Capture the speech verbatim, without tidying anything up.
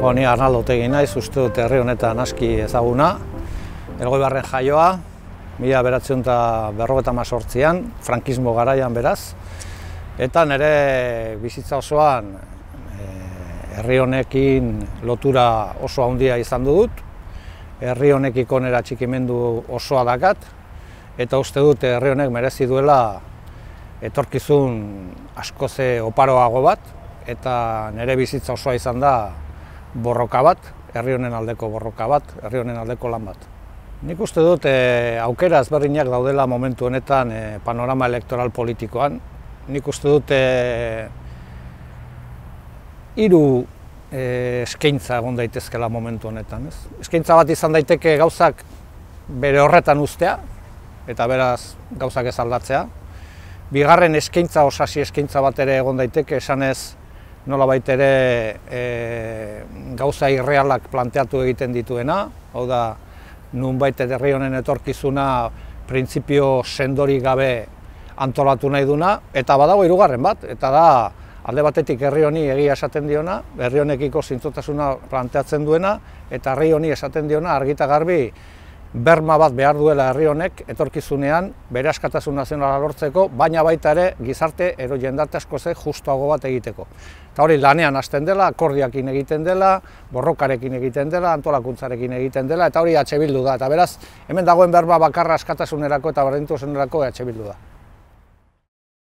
Bo, ni Arnaldo Otegi naiz, uste dut herri honetan aski ezaguna. Elgoibarren jaioa, mila bederatziehun eta berrogeita hemezortzian, frankismo garaian beraz. Eta nire bizitza osoan herri honekin lotura oso handia izan dut. Herri honekiko nera txikimendu osoa dakat. Eta uste dut herri honek merezi duela etorkizun askoze oparoago bat. Eta nire bizitza osoa izan da borroka bat, herri honen aldeko borroka bat, herri honen aldeko lan bat. Nik uste dut e, aukera ezberdinak daudela momentu honetan e, panorama elektoral politikoan. Nik uste dut e, hiru e, eskaintza egon daitezkela momentu honetan. Ez? Eskaintza bat izan daiteke gauzak bere horretan uztea, eta beraz gauzak ez aldatzea. Bigarren eskaintza, osasi eskaintza bat ere egon daiteke, esanez nolabait ere e, gauza irrealak planteatu egiten dituena, hau da, nunbait herri honen etorkizuna printzipio sendori gabe antolatu nahi duna, eta badago hirugarren bat, eta da alde batetik herri honi egia esaten diona, herri honekiko zintzotasuna planteatzen duena, eta herri honi esaten diona argi eta garbi berma bat behar duela herri honek etorkizunean bere askatasun nazionala lortzeko, baina baita ere gizarte ero jendarte askoze justuago bat egiteko. Eta hori lanean hasten dela, akordiakin egiten dela, borrokarekin egiten dela, antolakuntzarekin egiten dela, eta hori eh Bildu da. Eta beraz, hemen dagoen berba bakarra askatasunerako eta berdintasunerako eh Bildu da.